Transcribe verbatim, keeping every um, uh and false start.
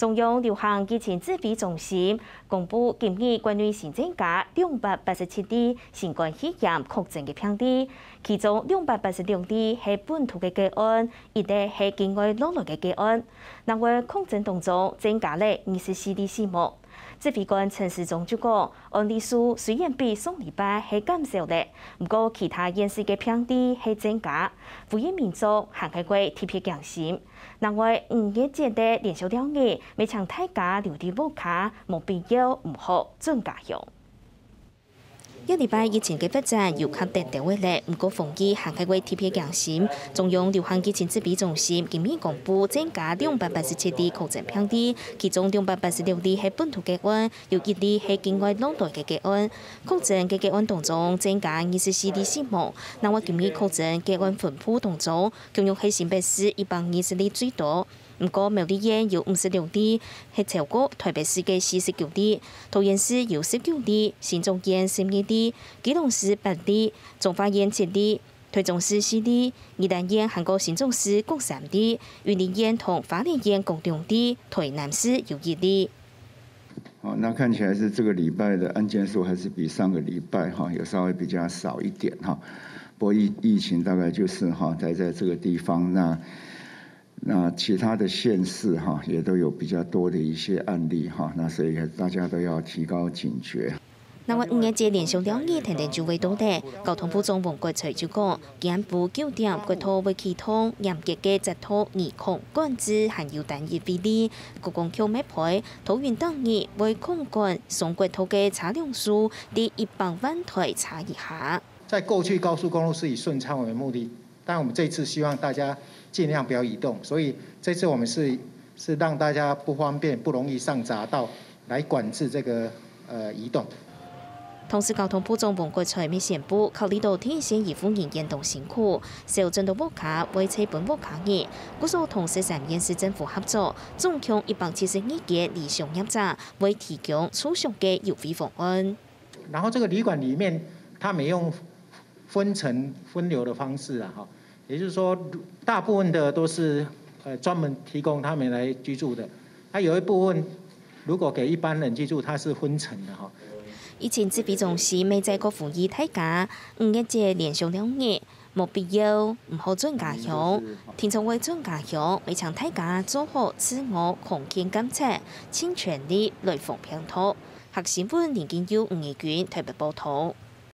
中央流行疫情指挥中心公布，今日國內新增加兩百八十七例新冠肺炎確診个病例，其中兩百八十六例係本土个個案，一例係境外落來个個案。另外，確診當中增加了二十四例死亡。指揮官陳時中就講，案例數雖然比上禮拜係減少了，毋過其他縣市个病例係增加，呼籲民眾還係愛特別驚心。 另外，五月節个連續兩日，也請大家留在屋下，無必要毋好轉家鄉。這禮拜疫情个發展有較顛倒个了，毋過防疫還係愛特別驚心。中央流行疫情指揮中心今日公布增加兩百八十七例確診病例，其中兩百八十六例係本土個案，有一例係境外落來个個案。確診个個案當中增加二十四例死亡。另外，今日確診個案分布當中， 共樣係新北市一百二十例最多，毋過苗栗縣有五十六例，係超過台北市个四十九例，桃園市有十九例，新竹縣十二例，基隆市八例，彰化縣七例，台中市四例，宜蘭縣還過新竹市各三例，雲林縣同花蓮縣各兩例，台南市有一例。 哦，那看起来是這個禮拜的案件數還是比上個禮拜哈，有稍微比較少一點哈。不過疫疫情大概就是哈，待在這個地方，那那其他的縣市哈，也都有比較多的一些案例哈，那所以大家都要提高警覺。 另外，五月節連續兩日天天就會到了，交通部長王國材就講，今晡九點國道會啟動嚴格个截圖二控管制，還有單一位置。國光局乜配，桃園當日會控管上國道个車輛數在一百萬台車以下。在過去高速公路是以順暢為目的，但我們這次希望大家盡量不要移動，所以這次我們是是讓大家不方便、不容易上匝道來管制這個呃移動。 同時，交通部長王國材乜宣布，考慮到第一線醫護人員當辛苦，少轉到屋下會在分屋下人，故所同十三縣市政府合作，總共一百七十二間理想業者會提供住宿个優惠方案。然後這個旅館裡面，他們用分層分流的方式啊，哈，也就是說，大部分的都是呃專門提供他們來居住的，那有一部分如果給一般人居住，它是分層的哈。疫情指揮中心乜再過呼籲大家，五月節連續兩日，無必要毋好轉家鄉。聽眾會轉家鄉，乜請大家做好自我空間監測，盡全力來防病毒。客新聞林金佑、吳怡君台北報導。